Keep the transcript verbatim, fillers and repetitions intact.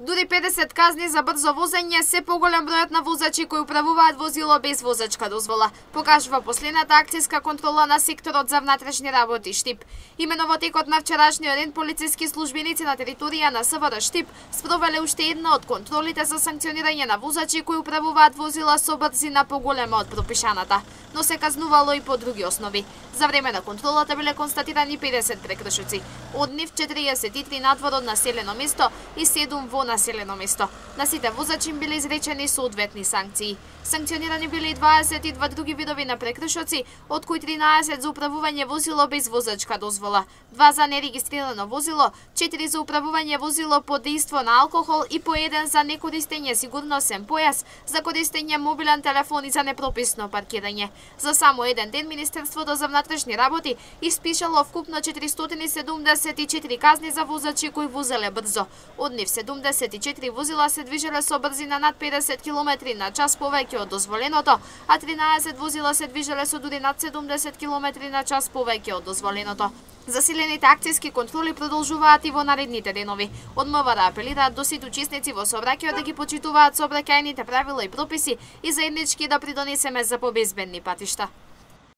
Дури педесет казни за брзо возење, се поголем бројот на возачи кои управуваат возило без возачка дозвола, покажува последната акцијска контрола на секторот за внатрешни работи Штип. Имено во текот на вчерашниот ден полициски службеници на територија на СВР Штип спровеле уште една од контролите за санкционирање на возачи кои управуваат возила со брзина поголема од пропишаната, но се казнувало и по други основи. За време на контролата биле констатирани педесет прекршоци, од нив четириесет и три надвор од населено место и седум во населено место. На сите возачи им биле изречени соодветни санкции. Санкционирани биле и дваесет и два други видови на прекршоци, од кои тринаесет за управување возило без возачка дозвола, два за нерегистрирано возило, четири за управување возило под дејство на алкохол и по еден за некористење сигурносен појас, за користење мобилен телефон и за непрописно паркирање. За само еден ден Министерството за внатрешни работи испишало вкупно четиристотини седумдесет и четири казни за возачи кои возеле брзо. Од нив седумдесет и четири возила се движеле со брзина над педесет километри на час повеќе од дозволеното, а тринаесет возила се движеле со дури над седумдесет километри на час повеќе од дозволеното. Засилените акцијски контроли продолжуваат и во наредните денови. Од МВР апелираат до сите учесници во сообраќајот да ги почитуваат сообраќајните правила и прописи и заеднички да придонесеме за побезбедни патишта.